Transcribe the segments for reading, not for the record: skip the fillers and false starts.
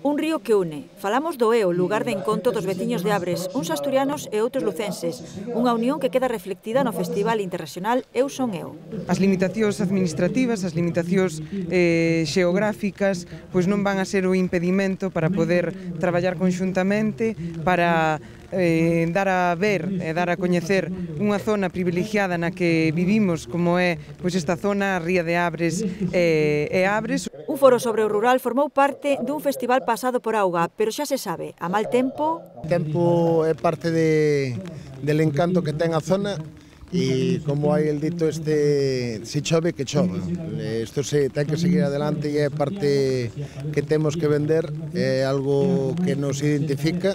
Un río que une. Falamos do Eo, lugar de encontro dos veciños de Abres, uns asturianos e outros lucenses. Unha unión que queda reflectida no Festival Internacional Eu Son Eo. As limitacións administrativas, as limitacións xeográficas, pois non van a ser o impedimento para poder traballar conxuntamente, para dar a ver e dar a coñecer unha zona privilegiada na que vivimos, como é pois esta zona, a Ría de Abres e Abres. Un foro sobre o rural formou parte dun festival pasado por auga, pero xa se sabe, a mal tempo... O tempo é parte del encanto que ten a zona e como hai el dito si chove que chova. Isto se ten que seguir adelante e é parte que temos que vender, é algo que nos identifica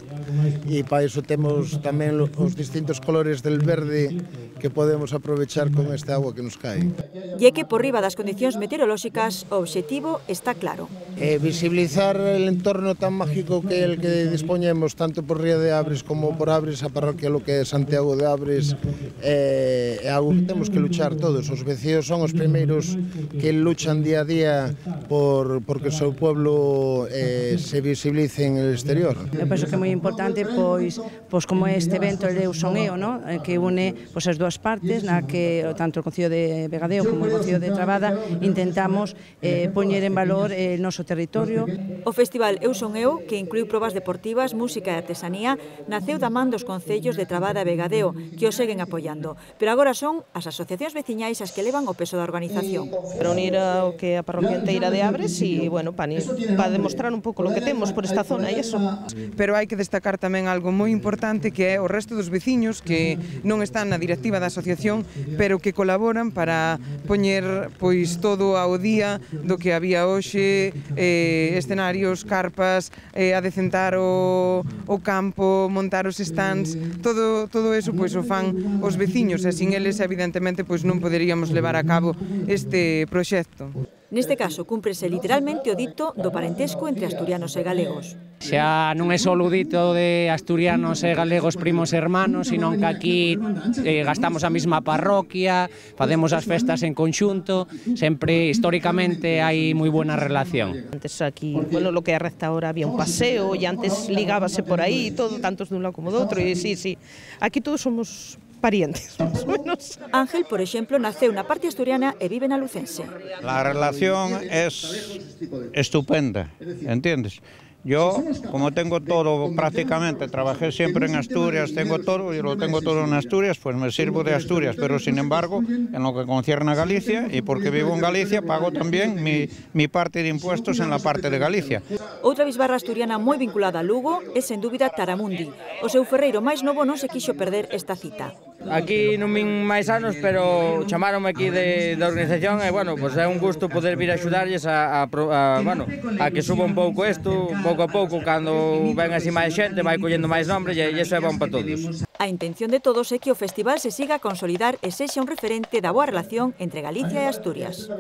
e para iso temos tamén os distintos colores del verde que podemos aprovechar con esta agua que nos cae. E é que por riba das condicións meteorolóxicas o obxectivo está claro. Visibilizar el entorno tan mágico que é el que dispoñemos tanto por Ría de Abres como por Abres, a parroquia lo que é Santiago de Abres, é algo que temos que luchar todos. Os veciños son os primeiros que luchan día a día porque o seu pueblo se visibilice en el exterior. Eu penso que é moi importante pois como este evento de Eu Son Eo, que une as dúas partes, na que tanto o Concello de Vegadeo como o Concello de Trabada intentamos poñer en valor o noso territorio. O Festival Eu Son Eo, que inclui probas deportivas, música e artesanía, naceu da man dos concellos de Trabada e Vegadeo, que o seguen apoiando, pero agora son as asociacións veciñais as que levan o peso da organización. Para unir o que a parroquia inteira de Abres e, bueno, para demostrar un pouco o que temos por esta zona e eso. Pero hai que destacar tamén algo moi importante que é o resto dos veciños que non están na directiva da asociación, pero que colaboran para poñer pois todo ao día do que había hoxe, escenarios, carpas, adecentar o campo, montar os stands, todo eso pois o fan os veciños e sin eles evidentemente pois non poderíamos levar a cabo este proxecto. Neste caso, cúmprese literalmente o dito do parentesco entre asturianos e galegos. Xa non é só o dito de asturianos e galegos primos e hermanos, sino que aquí gastamos a mesma parroquia, facemos as festas en conxunto, sempre históricamente hai moi buena relación. Antes aquí, bueno, lo que é a recta ahora había un paseo e antes ligábase por aí, todo, tantos dun lado como do outro, e sí, aquí todos somos parientes, más o menos. Ángel, por exemplo, naceu na parte asturiana e vive na lucense. La relación es estupenda, ¿entiendes? Yo, como tengo todo prácticamente, trabajé siempre en Asturias, tengo todo y lo tengo todo en Asturias, pues me sirvo de Asturias, pero sin embargo, en lo que concierne a Galicia, y porque vivo en Galicia, pago también mi parte de impuestos en la parte de Galicia. Outra bisbarra asturiana moi vinculada a Lugo é, sen dúbida, Taramundi. O seu ferreiro máis novo non se quixo perder esta cita. Aquí non vin máis anos, pero chamaronme aquí da organización e, bueno, pues é un gusto poder vir a axudarlles a que suba un pouco isto, pouco a pouco, cando ven así máis xente, vai collendo máis nombres e iso é bom para todos. A intención de todos é que o festival se siga a consolidar e sexa un referente da boa relación entre Galicia e Asturias.